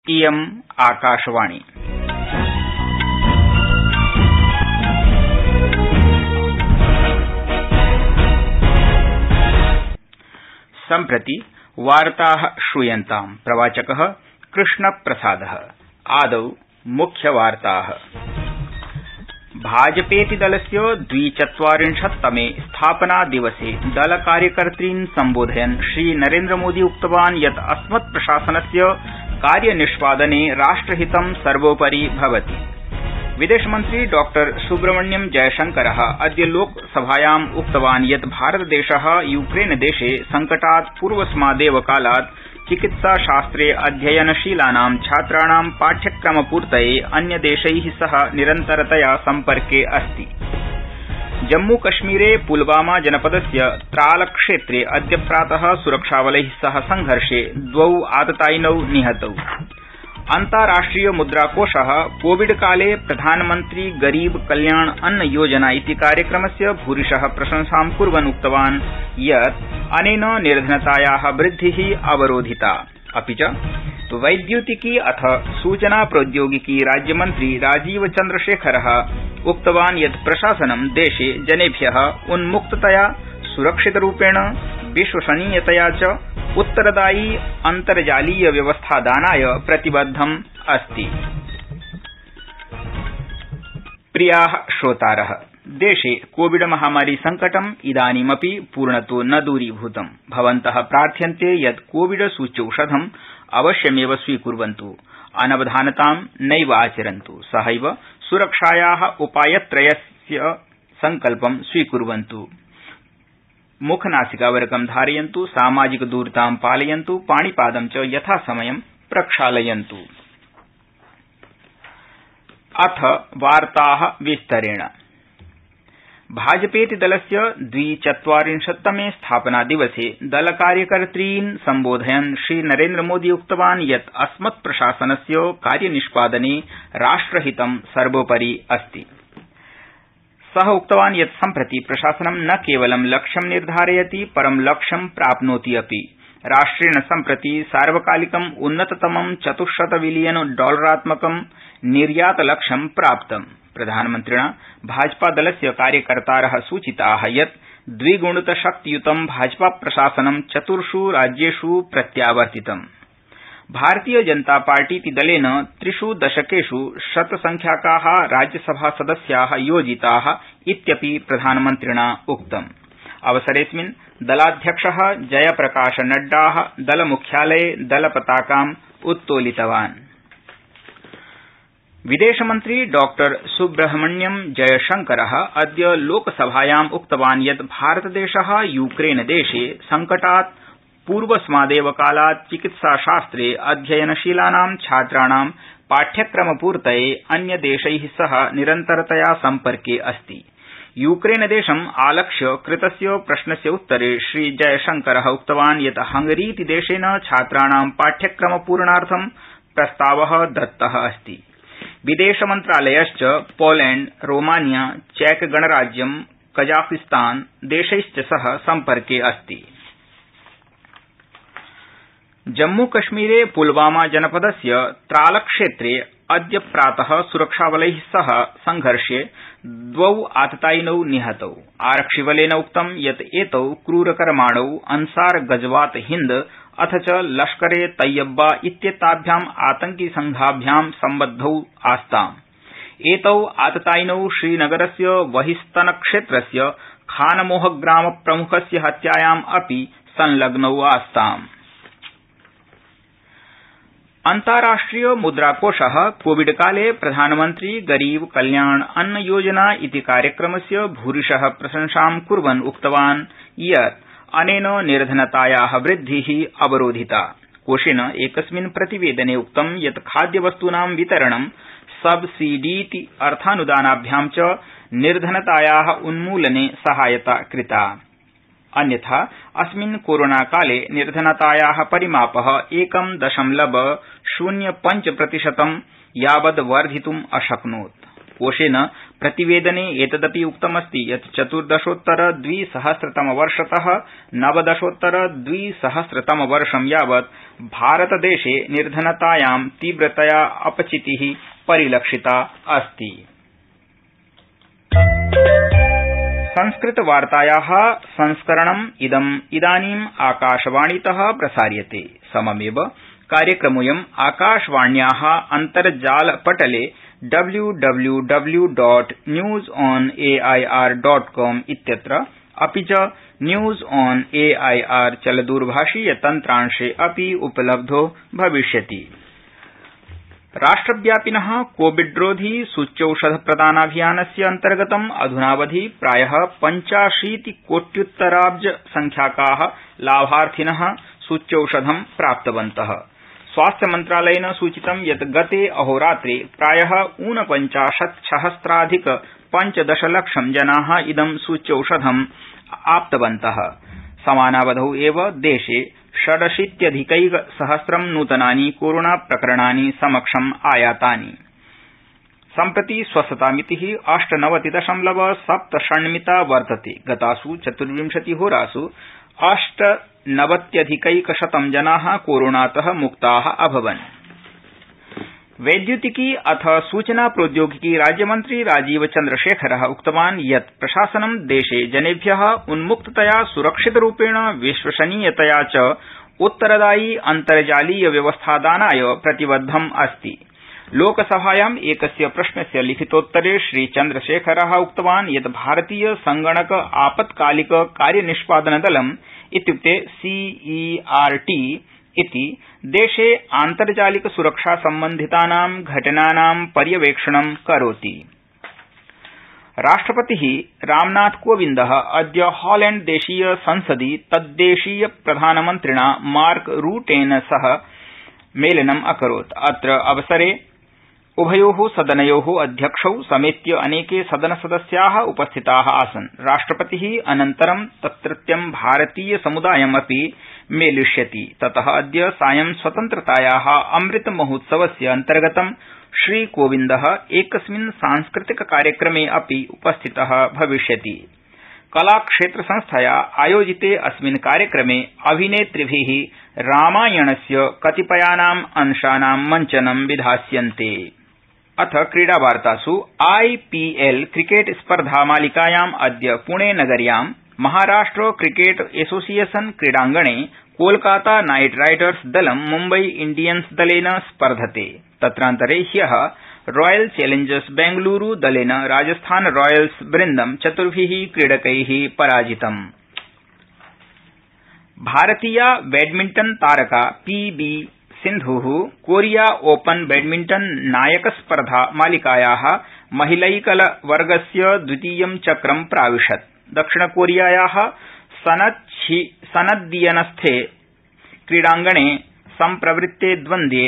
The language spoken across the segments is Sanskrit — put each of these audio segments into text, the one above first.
इयम् आकाशवाणी। सम्प्रति वार्ताः श्रूयन्ताम्। प्रवाचकः कृष्णप्रसादः। आदौ मुख्यवार्ताः। भाजपेति दलस्य 42तमे स्थापनादिवसे दलकार्यकर्तॄन् सम्बोधयन् श्रीनरेन्द्रमोदी उक्तवान् यत् अस्मत्प्रशासनस्य कार्यनिष्पादने राष्ट्रहितं सर्वोपरि भवति। विदेशमन्त्री डॉ सुब्रह्मण्यम जयशंकरः अद्य लोकसभायाम् उक्तवान् यत् भारतदेशः यूक्रेनदेशे संकटात् पूर्वस्मादेव कालात् चिकित्साशास्त्रे अध्ययनशीलानां छात्राणां पाठ्यक्रमपूर्तये अन्यदेशैः सह निरन्तरतया सम्पर्के अस्ति। जम्मूकश्मीरे पुलवामा जनपदस्य त्रालक्षेत्रे अद्य प्रातः सुरक्षाबलैः सह संघर्षे 2 आततायिनौ निहतौ। अन्ताराष्ट्रिय मुद्राकोषः कोविडकाले प्रधानमन्त्री गरीब कल्याण अन्न योजना इति कार्यक्रमस्य भूरिशः प्रशंसां कुर्वन् उक्तवान् यत् अनेन निर्धनतायाः वृद्धिः अवरोधिता। अपि च वैद्युतिकी अथ सूचना प्रौद्योगिकी राज्यमन्त्री राजीव चन्द्रशेखरः उक्तवान् यत् प्रशासनं देशे जनेभ्यः उन्मुक्ततया सुरक्षितरूपेण विश्वसनीयतया च उत्तरदायी अन्तर्जालीय व्यवस्थादानाय प्रतिबद्धम् अस्ति। प्रियाः श्रोतारः, देशे कोविड महामारी संकटम् इदानीमपि पूर्णतो न दूरीभूतम्। भवन्तः प्रार्थ्यन्ते यत् कोविड सूच्यौषधम् अवश्यमेव स्वीकुर्वन्तु, अनवधानतां नैव आचरन्तु, सहैव सुरक्षायाः उपायत्रयस्य संकल्पं स्वीकुर्वन्तु। मुखनासिकावरकं धारयन्तु, सामाजिकदूरतां पालयन्तु, पाणिपादं च यथासमयं प्रक्षालयन्तु। अथ वार्ताः विस्तरेण। भाजपेति दलस्य 42तमे स्थापनादिवसे दलकार्यकर्तॄन् सम्बोधयन् श्रीनरेन्द्रमोदी उक्तवान् यत् अस्मत्प्रशासनस्य कार्यनिष्पादने राष्ट्रहितं सर्वोपरि अस्ति। सः उक्तवान् यत् सम्प्रति प्रशासनं न केवलं लक्ष्यं निर्धारयति, परं लक्ष्यं प्राप्नोति अपि। राष्ट्रेण सम्प्रति सार्वकालिकम् उन्नततमं $400 बिलियन निर्यातलक्ष्यं प्राप्तम्। प्रधानमन्त्रिणा भाजपादलस्य कार्यकर्तारः सूचिताः यत् द्विगुणितशक्तियुतं भाजपाप्रशासनं 4 राज्येषु प्रत्यावर्तितम्। भारतीय जनता पार्टीति दलेन 3 दशकेषु शतसंख्याकाः राज्यसभासदस्याः योजिताः इत्यपि प्रधानमन्त्रिणा उक्तम्। अवसरेऽस्मिन् दलाध्यक्षः जयप्रकाश नड्डा दलमुख्यालये दलपताकाम् उत्तोलितवान्। विदेशमन्त्री डॉ सुब्रह्मण्यम जयशंकरः अद्य लोकसभायाम् उक्तवान् यत् भारतदेशः यूक्रेनदेशे संकटात् पूर्वस्मादेव कालात् चिकित्साशास्त्रे अध्ययनशीलानां छात्राणां पाठ्यक्रमपूर्तये अन्यदेशैः सह निरन्तरतया सम्पर्के अस्ति। यूक्रेनदेशम् आलक्ष्य कृतस्य प्रश्नस्य उत्तरे श्रीजयशंकरः उक्तवान् यत् हंगरीति देशेन छात्राणां पाठ्यक्रमपूरणार्थं प्रस्तावः दत्तः अस्ति। विदेशमन्त्रालयश्च पोलैंड, रोमानिया, चैक गणराज्यं, कजाकिस्तान देशैश्च सह सम्पर्के अस्ति। जम्मूकश्मीरे पुलवामा जनपदस्य त्रालक्षेत्रे अद्य प्रातः सुरक्षाबलैः सह संघर्षे 2 आततायिनौ निहतौ। आरक्षिबलेन उक्तं यत् एतौ क्रूरकर्माणौ अंसार गजवात हिन्द अथ च लश्करे तैयब्बा इत्येताभ्याम् आतंकिसंघाभ्यां सम्बद्धौ आस्ताम्। एतौ आततायिनौ श्रीनगरस्य वहिस्तनक्षेत्रस्य खानमोह ग्रामप्रमुखस्य हत्यायाम् अपि संलग्नौ आस्ताम्। अन्ताराष्ट्रिय मुद्राकोषः कोविडकाले प्रधानमन्त्री गरीब कल्याण अन्न योजना इति कार्यक्रमस्य भूरिशः प्रशंसां कुर्वन् उक्तवान् यत् अनेन निर्धनतायाः वृद्धिः अवरोधिता। कोषेण एकस्मिन् प्रतिवेदने उक्तं यत् खाद्यवस्तूनां वितरणं सब्सिडीति अर्थानुदानाभ्यां च निर्धनतायाः उन्मूलने सहायता कृता। अन्यथा अस्मिन् कोरोनाकाले निर्धनतायाः परिमापः 1.05% यावद् वर्धितुम् अशक्नोत्। कोषेण प्रतिवेदने एतदपि उक्तमस्ति यत् 14-द्विसहस्रतमवर्षत 19-द्विसहस्रतमवर्षं यावत् भारतदेशे निर्धनतायां तीव्रतया अपचिति परिलक्षिता अस्ति। संस्कृतवार्ताया संस्करणम् इदानीम् आकाशवाणीत प्रसार्यते। सममेव कार्यक्रमोऽयम् आकाशवाण्या अन्तर्जालपटले www.newsonair.com इत्यत्र अपि च न्यूज ऑन एआईआर चलदूरभाषीयतन्त्रांशे अपि उपलब्धो भविष्यति। राष्ट्रव्यापिनः कोविड्रोधी सूच्यौषधप्रदानाभियानस्य अन्तर्गतम् अधुनावधि प्रायः 85 कोट्युत्तराब्ज संख्याकाः लाभार्थिनः सूच्यौषधं प्राप्तवन्तः। स्वास्थ्यमन्त्रालयेन सूचितं यत् गते अहोरात्रे प्रायः 49,000,000 पंचदशलक्षं जनाः इदं सूच्यौषधम् आप्तवन्तः। समानावधौ एव देशे 86,000 नूतनानि कोरोना प्रकरणानि समक्षम् आयातानि। सम्प्रति स्वस्थतामितिः 98.7 वर्तते। गतासु 24 होरासु 98,100 जनाः कोरोनातः मुक्ताः अभवन्। वैद्युतिकी अथ सूचना प्रौद्योगिकी राज्यमन्त्री राजीव चन्द्रशेखरः उक्तवान् यत् प्रशासनं देशे जनेभ्यः उन्मुक्ततया सुरक्षितरूपेण विश्वसनीयतया च उत्तरदायी अन्तर्जालीय व्यवस्थादानाय प्रतिबद्धम् अस्ति। लोकसभायाम् एकस्य प्रश्नस्य लिखितोत्तरे श्रीचन्द्रशेखरः उक्तवान् यत् भारतीय संगणक आपत्कालिक कार्यनिष्पादनदलम् इत्युक्ते CERT इति देशे आन्तर्जालिक सुरक्षा सम्बन्धितानां घटनानां पर्यवेक्षणं करोति। राष्ट्रपतिः रामनाथ कोविन्दः अद्य हॉलैण्ड देशीय संसदि तद्देशीय प्रधानमन्त्रिणा मार्क रूटेन सह मेलनम् अकरोत्। अत्र अवसरे उभयोः सदनयोः अध्यक्षौ समेत्य अनेके सदनसदस्याः उपस्थिताः आसन्। राष्ट्रपतिः अनन्तरं तत्रत्यं भारतीय समुदायमपि मेलिष्यति। ततः अद्य सायं स्वतन्त्रतायाः अमृत महोत्सवस्य अन्तर्गतं श्रीकोविन्दः एकस्मिन् सांस्कृतिक कार्यक्रमे अपि उपस्थितः भविष्यति। कलाक्षेत्रसंस्थया आयोजिते अस्मिन् कार्यक्रमे अभिनेतृभिः रामायणस्य कतिपयानाम् अंशानां मञ्चनं विधास्यन्ते। अथ क्रीडावार्तासु IPL क्रिकेट स्पर्धा मालिकायाम् अद्य पुणे नगर्यां महाराष्ट्र क्रिकेट एसोसिएशन क्रीडांगणे कोलकाता नाइट राइडर्स दलं मुम्बई इंडियन्स दलेन स्पर्धते। तत्रान्तरे ह्यः रॉयल चैलेंजर्स बेंगलुरू दलेन राजस्थान रॉयल्स वृन्दं 4 क्रीडकैः पराजितम्। भारतीया बैडमिंटन तारका PV सिन्धुः कोरिया ओपन बैडमिंटन नायकस्पर्धा मालिकायाः महिलैकलवर्गस्य द्वितीयं चक्रं प्राविशत्। दक्षिणकोरियायाः सनद्यियनस्थे क्रीडांगणे सम्प्रवृत्ते द्वन्द्वे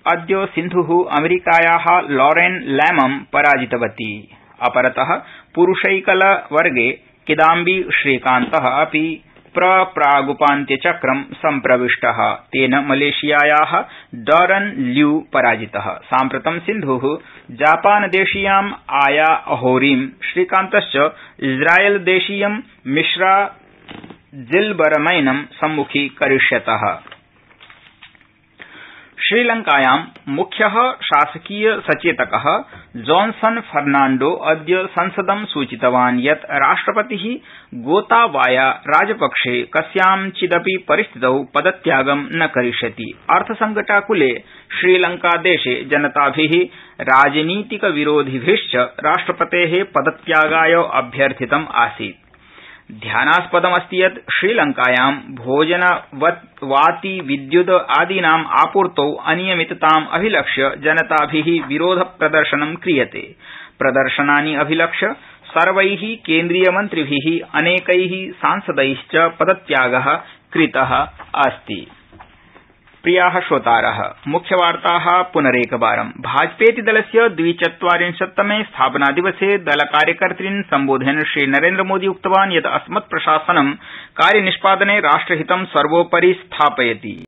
अद्य सिन्धुः अमेरिकायाः लॉरेन लैमं पराजितवती। अपरतः पुरुषैकलवर्गे किदाम्बी श्रीकान्तः अपि प्रागुपान्त्यचक्रं सम्प्रविष्टः। तेन मलेशियायाः डॉरन ल्यू पराजितः। साम्प्रतं सिन्धुः जापानदेशीयाम् आया अहोरीं, श्रीकान्तश्च इस्रायलदेशीयं मिश्रा जिल्बरमैनं सम्मुखीकरिष्यतः। श्रीलंकायां मुख्यः शासकीय सचेतकः जॉनसन फर्नांडो अद्य संसदं सूचितवान् यत् राष्ट्रपतिः गोताबाया राजपक्षे कस्याञ्चिदपि परिस्थितौ पदत्यागं न करिष्यति। अर्थसंकटाकुले श्रीलंकादेशे जनताभिः राजनीतिकविरोधिभिश्च राष्ट्रपतेः पदत्यागाय अभ्यर्थितम् आसीत्। ध्यानास्पदमस्ति यत् श्रीलंकायां भोजनवाति विद्युत् आदीनाम् आपूर्तौ अनियमितताम् अभिलक्ष्य जनताभिः विरोधप्रदर्शनं क्रियते। प्रदर्शनानि अभिलक्ष्य सर्वैः केन्द्रीयमन्त्रिभिः अनेकैः सांसदैश्च पदत्यागः कृतः अस्ति। प्रियाः श्रोतारः, मुख्यवार्ताः पुनरेकवारम्। भाजपेति दलस्य 240तमे स्थापनादिवसे दलकार्यकर्तॄन् सम्बोधयन् श्रीनरेन्द्रमोदी उक्तवान् यत् अस्मत्प्रशासनं कार्यनिष्पादने राष्ट्रहितं सर्वोपरि स्थापयति।